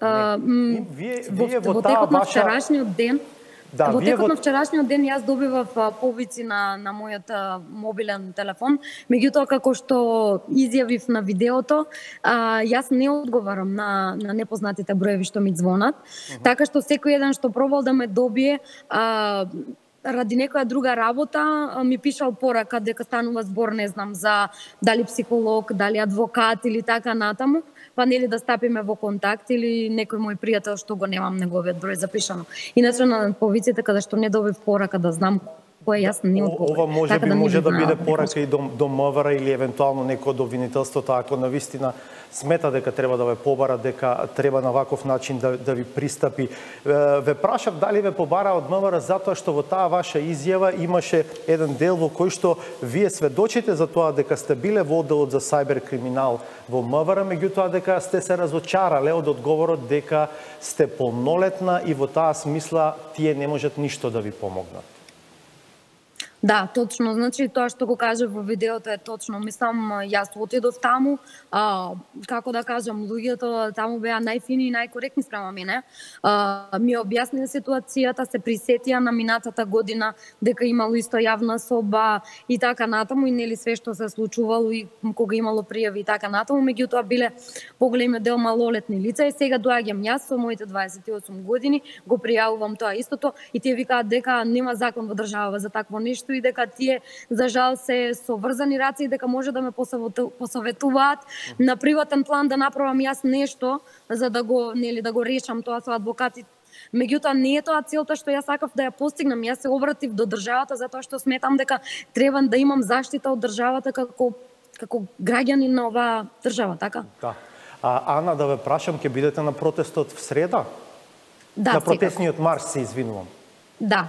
Вие во текот на ваша... вчерашниот ден, Да, во текот на вчерашниот ден јас добивав повици на мојот мобилен телефон, меѓутоа како што изјавив на видеото, јас не одговарам на непознатите броеви што ми звонат, така што секој еден што пробал да ме добие ради некоја друга работа ми пишал порака дека станува збор, не знам, за дали психолог, дали адвокат или така натаму, па нели да стапиме во контакт или некој мој пријател што го немам неговиот број запишано. Иначе на повиците каде што не добив порака да знам кој јас не одговорам. Ова може да биде порака и до МВР или евентуално некој од обвинителството, ако навистина смета дека треба да ве побара, дека треба на ваков начин да ви пристапи. Ве прашав дали ве побара од МВР затоа што во таа ваша изјава имаше еден дел во кој што вие сведочите за тоа дека сте биле во одделот за сајбер криминал во МВР, меѓутоа дека сте се разочарале од одговорот дека сте полнолетна и во таа смисла тие не можат ништо да ви помогнат. Да, точно. Значи, тоа што го кажа во видеото е точно. Мислам, јас отидов таму, како да кажам, луѓето таму беа најфини и најкоректни спрема мене. Ми објаснија ситуацијата, се присетија на минатата година дека имало исто јавна соба и така натаму, и нели све што се случувало и кога имало пријави и така натаму, меѓутоа биле поголемиот дел малолетни лица и сега доаѓам јас со моите 28 години, го пријавувам тоа истото и тие викаат дека нема закон во држава за такво нешто и дека тие за жал се со врзани раце и дека може да ме посоветуваат на приватен план да направам јас нешто за да го решам тоа со адвокати. Меѓутоа не е тоа целта што јас сакав да ја постигнам. Јас се обратив до државата затоа што сметам дека треба да имам заштита од државата како граѓанин на оваа држава, така? Да. Ана, да ве прашам, ќе бидете на протестот в среда? Да, на протестниот марш, се извинувам. Да.